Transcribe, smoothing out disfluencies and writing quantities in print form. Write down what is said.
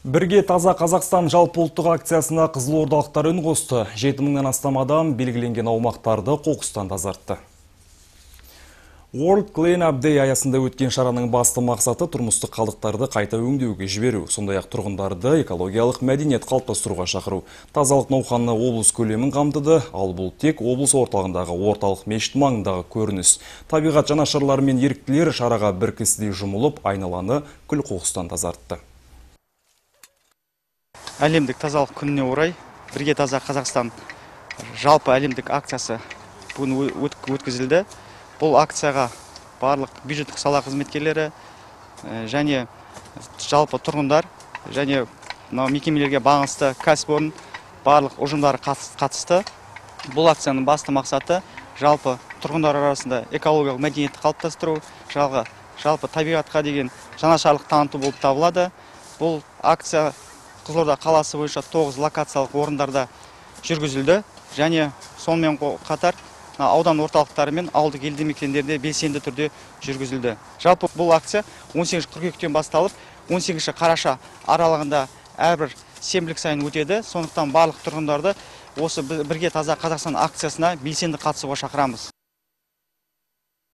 Бірге таза Қазақстан жалпы ұлттық акциясына қызылордалықтар үн қосты. 7000-нен астам адам белгіленген аумақтарды қоқыстан тазартты. World Clean Up Day аясында өткен шараның басты мақсаты тұрмыстық қалдықтарды қайта өңдеуге жіберу, сондай-ақ тұрғындарды экологиялық мәдениет қалыптастыруға шақыру. Тазалық науқаны облыс көлемін қамтыды, ал бұл тек облыс орталығындағы орталық мешіт маңындағы көрініс. Табиғат жанашырлары мен еріктілер шараға бір кісідей жұмылып, айналаны күл қоқыстан тазартты. Әлемдік тазалық күніне орай бірге таза Қазақстан жалпы әлемдік акциясы бүгін өткізілді. Бұл акцияға барлық бюджеттік сала қызметкерлері және жалпы тұрғындар және мекемелерге бағынысты кәсіпорын барлық ұжымдары қатысты. Бұл акцияның басты мақсаты жалпы тұрғындар арасында экологиялық мәдениетті қалыптастыру, жалпы табиғатқа деген жанашырлық таныту болып табылады. Бұл акция Қызылорда қаласы бойынша 9 локациялық орындарда жүргізілді және сонымен қатар аудан орталықтары мен ауылдық елді мекендерде белсенді түрде жүргізілді. Жалпы бұл акция 18 қыркүйектен басталып 18 қараша аралығында әрбір сенбілік сайын өтеді. Сондықтан барлық тұрғындарды осы бірге таза Қазақстан акциясына белсенді қатысуға шақырамыз.